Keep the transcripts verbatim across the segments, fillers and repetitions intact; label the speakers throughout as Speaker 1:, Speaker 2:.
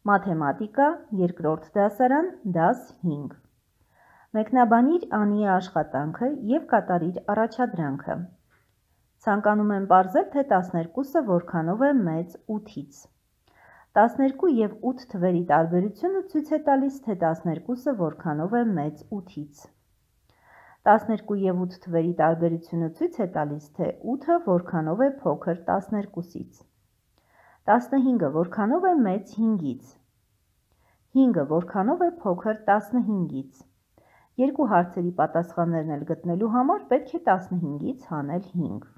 Speaker 1: Մաթեմատիկա, երկրորդ դասարան, դաս հինգ։ Մեկնաբանիր Անիի աշխատանքը և կատարիր առաջադրանքը։ Ցանկանում եմ պարզել, թե տասներկուսը որքանով է մեծ ութից։ տասներկու և ութ թվերի տարբերությունը ցույց է տալիս, թե տասներկուսը որքանով է մեծ ութից։ տասներկու և ութ թվերի տարբերությունը ցույց է տալիս, թե ութը որքանով է փոքր տասներկուսից։ տասնհինգը որքանով է մեծ հինգից։ հինգը որքանով է փոքր տասնհինգից։ Երկու հարցերի պատասխաններն էլ գտնելու համար պետք է տասնհինգից հանել հինգ։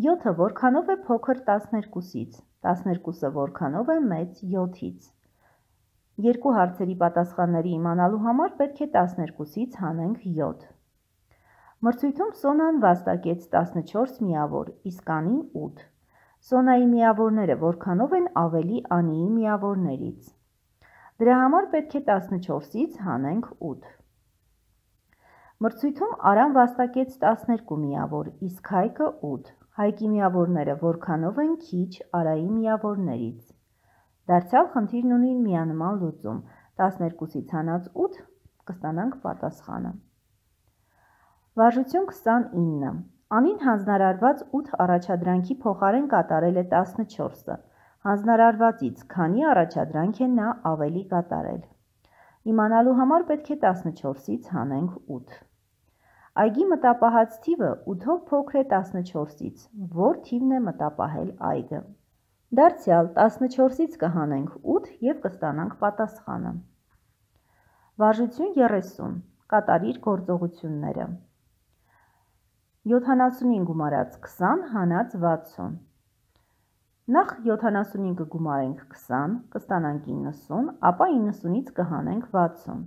Speaker 1: յոթը որքանով է փոքր տասներկուսից։ տասներկուսը որքանով է մեծ յոթից։ Երկու հարցերի պատասխանները իմանալու համար պետք է տասներկուսից հանենք յոթ։ Մրցույթում Սոնան վաստակեց տասնչորս միավոր, իսկ Անին ութ։ Սոնայի միավորները որքանով են ավելի Անիի միավորներից։ Դրա համար պետք է տասնչորսից հանենք ութ։ Մրցույթում Արան վաստակեց տասներկու միավոր, իսկ Հայկը ութ։ Հայկի միավորները որքանով են քիչ Արայի միավորներից։ Դարձյալ խնդիրն ունի միանման լուծում, տասներկուսից հանած ութ կստանանք պատասխանը։ Վարժություն քսանինը։ Անին հանձնարարված ութ առաջադրանքի փոխարեն կատարել է տասնչորսը։ Հանձնարարվածից քանի առաջադրանք է նա ավելի կատարել։ Իմանալու համար պետք է տասնչորսից հանենք ութ։ Այգի մտապահած թիվը ութով փոքր է տասնչորսից, որ թիվն է մտապահել այգը։ Դարձյալ տասնչորսից կհանենք ութ և կստանանք պատասխանը։ Վարժություն երեսուն։ Կատարիր գործողությունները։ յոթանասունին գումարած քսան հանած վաթսուն։ Նախ յոթանասունին կգումարենք քսան, կստանանք իննսուն, ապա իննսունից կհանենք վաթսուն։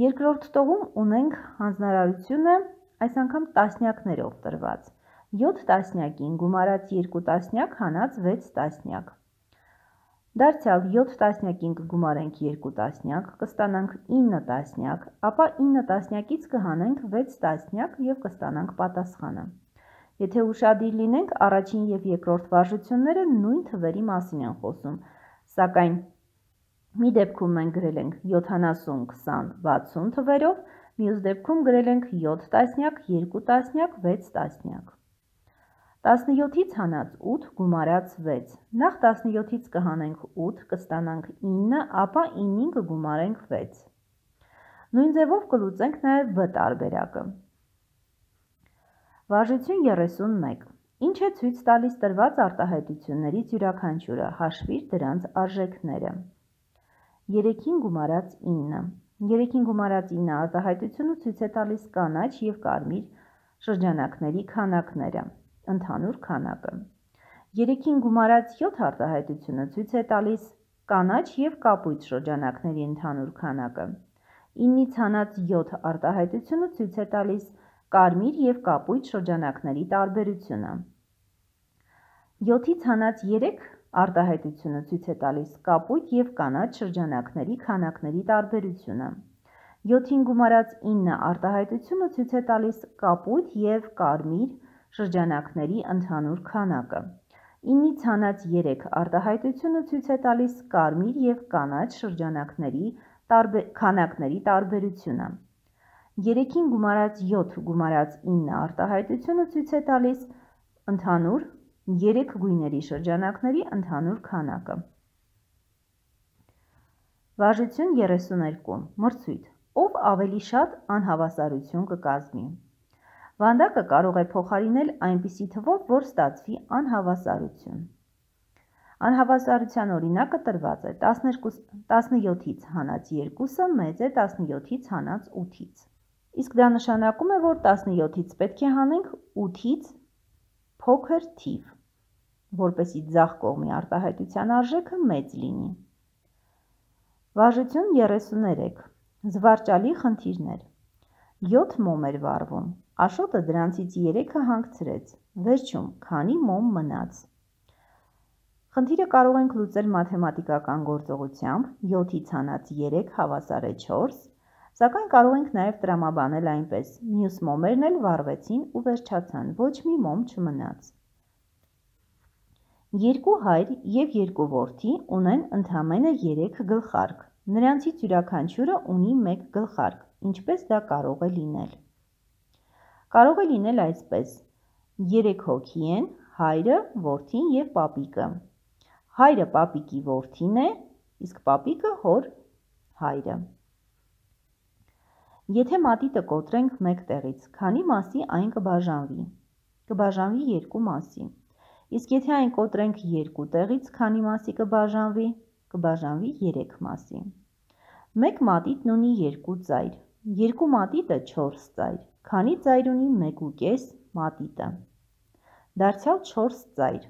Speaker 1: Երկրորդ տողում ունենք հանձնարարությունը այս անգամ տասնյակներով տրված։ յոթ տասնյակին գումարած երկու տասնյակ հանած վեց տասնյակ։ Դարձյալ յոթ տասնյակին կգումարենք երկու տասնյակ, կստանանք ինը տասնյակ, ապա ինը տասնյակից կհանենք վեց տասնյակ և կստանանք պատասխանը։ Եթե ուշադիր լինենք, առաջին և երկրորդ վարժությունները նույն թվերի մասին են խոսում, սակայն մի դեպքում մենք գրել ենք յոթանասուն, քսան, վաթսուն թվերով, մյուս դեպքում գրել ենք յոթ տասնյակ, երկու տասնյակ, վեց տասնյակ։ տասնյոթից հանած ութ գումարած վեց։ Նախ տասնյոթից կհանենք ութ, կստանանք ինը, ապա ինին կգումարենք վեց։ Նույն ձևով կլուծենք նաև վ տարբերակը։ Վարժություն երեսունմեկ։ Ինչ է ցույց տալիս տրված արտահայտություններից յուրաքանչյուրը, հաշվիր դրանց արժեքները։ երեքին գումարած ինը։ երեքին գումարած ինը արտահայտությունը ցույց է տալիս կանաչ և կարմիր շրջանակների քանակները, ընդհանուր քանակը։ երեքին գումարած յոթ արտահայտությունը ցույց է տալիս կանաչ և կապույտ շրջանակների ընդհանուր քանակը։ ինից հանած յոթ արտահայտությունը ցույց է տալիս կարմիր և կապույտ շրջանակների տարբերությունը։ յոթից հանած երեք արտահայտությունը ցույց է տալիս կապույտ և կանաչ շրջանակների քանակների տարբերությունը։ յոթին գումարած ինը արտահայտությունը ցույց է տալիս կապույտ և կարմիր շրջանակների ընդհանուր քանակը։ ինից հանած երեք արտահայտությունը ցույց է տալիս կարմիր և կանաչ շրջանակների քանակների տարբերությունը։ երեքին գումարած յոթ գումարած ինը արտահայտությունը ցույց է տալիս ընդհանուր երեք գույների շրջանակների ընդհանուր քանակը։ Վարժություն երեսուներկու։ Մրցույթ։ Ով ավելի շատ անհավասարություն կկազմի։ Վանդակը կարող է փոխարինել այնպիսի թվով, որ ստացվի անհավասարություն։ Անհավասարության օրինակը տրված է տասնյոթից հանած երկուսը մեծ է տասնյոթից հանած ութից։ Իսկ դա նշանակում է, որ տասնյոթից պետք է հանենք ութից փոքր թիվ, որպեսզի ձախ կողմի արտահայտության արժեքը մեծ լինի։ Վարժություն երեսուներեք։ Զվարճալի խնդիրներ։ յոթ մոմ էր վառվում։ Աշոտը դրանցից երեքը հանգցրեց։ Վերջում քանի մոմ մնաց։ Խնդիրը կարող ենք լուծել մաթեմատիկական գործողությամբ յոթից հանած երեք հավասար է չորս, սակայն կարող ենք նաև տրամաբանել այնպես. մյուս մոմերն էլ վառվեցին ու վերջացան, ոչ մի մոմ չմնաց։ Երկու հայր և երկու որդի ունեն ընդամենը երեք գլխարկ, նրանցից յուրաքանչյուրը ունի մեկ գլխարկ, ինչպես դա կարող է լինել։ Կարող է լինել այսպես. երեք հոգի են, հայրը, որդին և պապիկը։ Հայրը պապիկի որդին է, իսկ պապիկը հոր հայրը։ Եթե մատիտը կոտրենք մեկ տեղից, քանի մասի այն կբաժանվի։ Կբաժանվի երկու մասի։ Իսկ եթե այն կոտրենք երկու տեղից, քանի մասի կբաժանվի, կբաժանվի երեք մասի։ Մեկ մատիտն ունի երկու ծայր, երկու մատիտը չորս ծայր, քանի ծայր ունի մեկ ու կես մատիտը։ Դարձյալ չորս ծայր,